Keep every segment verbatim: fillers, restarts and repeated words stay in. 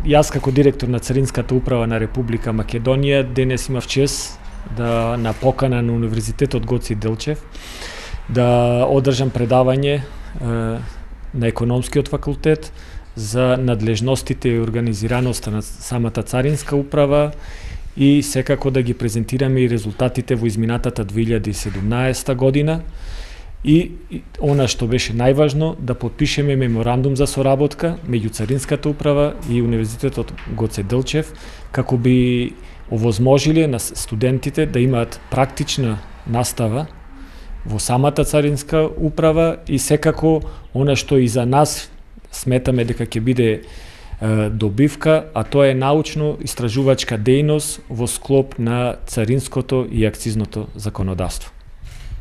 јас како директор на Царинската управа на Република Македонија денес имав чест да на покана на Универзитетот Гоце Делчев да одржам предавање е, на економскиот факултет за надлежностите и организираноста на самата Царинска управа и секако да ги презентираме и резултатите во изминатата две илјади и седумнаесета година. И она што беше најважно, да подпишеме меморандум за соработка меѓу Царинската управа и Универзитетот Гоце Делчев, како би овозможиле на студентите да имаат практична настава во самата Царинска управа и секако она што и за нас сметаме дека ќе биде е, добивка, а тоа е научно-истражувачка дејност во склоп на царинското и акцизното законодавство.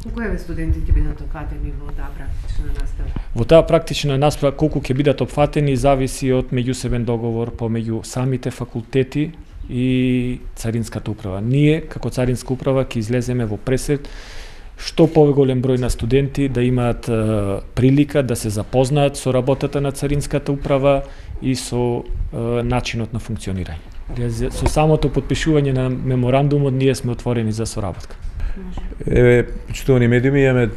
Колку еве студенти ќе бидат опфатени во таа практична настава? Во таа практична настава колку ќе бидат опфатени зависи од меѓусебен договор помеѓу самите факултети и Царинската управа. Ние како Царинска управа ќе излеземе во пресед што поголем број на студенти да имаат е, прилика да се запознаат со работата на Царинската управа и со е, начинот на функционирање. Со самото подпишување на меморандумот ние сме отворени за соработка. Еве, почитувани медиуми, имаме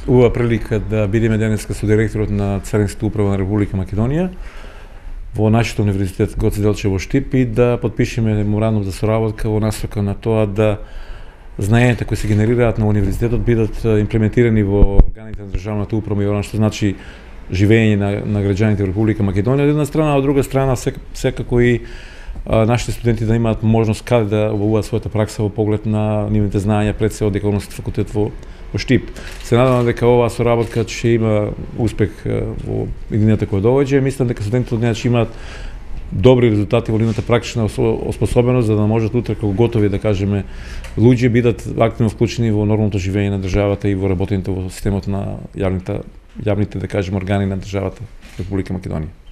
убава прилика да бидеме денеска со директорот на Царинската управа на Република Македонија во нашиот универзитет Гоце Делчев во Штип и да подпишеме меморандум за соработка во насока на тоа да знаењата кои се генерираат на универзитетот бидат имплементирани во органите на државната управа и она што значи живење на, на граѓаните во Република Македонија од една страна, а од друга страна сек, секако и а, нашите студенти да имаат можност каде да обувуваат својата пракса во поглед на нивните знаења пред се од економски факултет во, во Штип. Се надевам дека оваа соработка ќе има успех во иднината која доаѓа. Мислам дека студентите од неа ќе имаат добри резултати во нивната практична оспособеност, за да можат утре како готови, да кажеме, луѓе бидат активно вклучени во нормалното живење на државата и во работењето во системот на јавните, јавните, да кажеме, органи на државата Република Македонија.